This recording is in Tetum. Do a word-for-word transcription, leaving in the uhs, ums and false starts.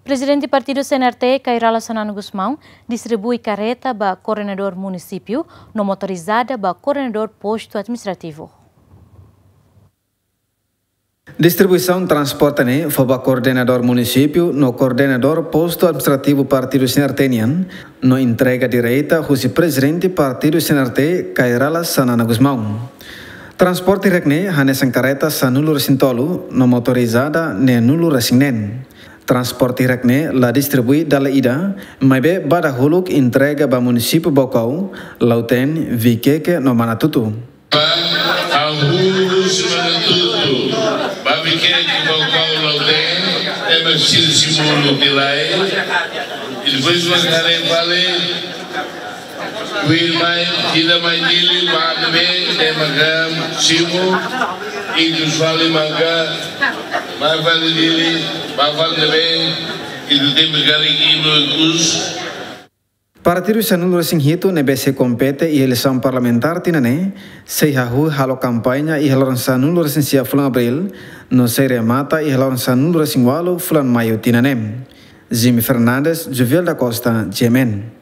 Prezidente Partidu C N R T, Kay Rala Xanana Gusmão, distribui kareta ba koordenadór munisípiu no motorizada ba koordenadór postu administrativu. Distribuisaun transporte ne'e fó ba koordenadór munisípiu no koordenadór postu administrativu Partidu C N R T nian, no entrega direta husi Prezidente Partidu C N R T, Kay Rala Xanana Gusmão. Transporte hirak ne'e hanesan kareta sanulu-resin-tolu no motorizada neenulu-resin-neen. Transporte hirak ne'e la distribui dala ida, maibé ba dahuluk entrega ba munisípiu Baucau, Lautém, Viqueque no Manatuto. Ba hahú husi Manatuto ba Viqueque, Baucau, Lautém, ema sira simu uluk lai. I depois ba haree fali, kuir mai, ida mai Dili, ba ne'ebé, ema ka simu, i depois fali maka, ba fali Dili, ba fali ne'ebé, i depois tempu kali ibu kus. Partidu sanulu-resin-hitu ne'ebé sei kompete iha eleisaun parlamentár tinan ne'e, sei hahú halo kampaña iha loron sanulu-resin-sia fulan Abríl, no sei remata iha loron sanulu-resin-ualu fulan Maiu tinan ne'e. Jimmy Fernandes, Juviel da Costa, G M N.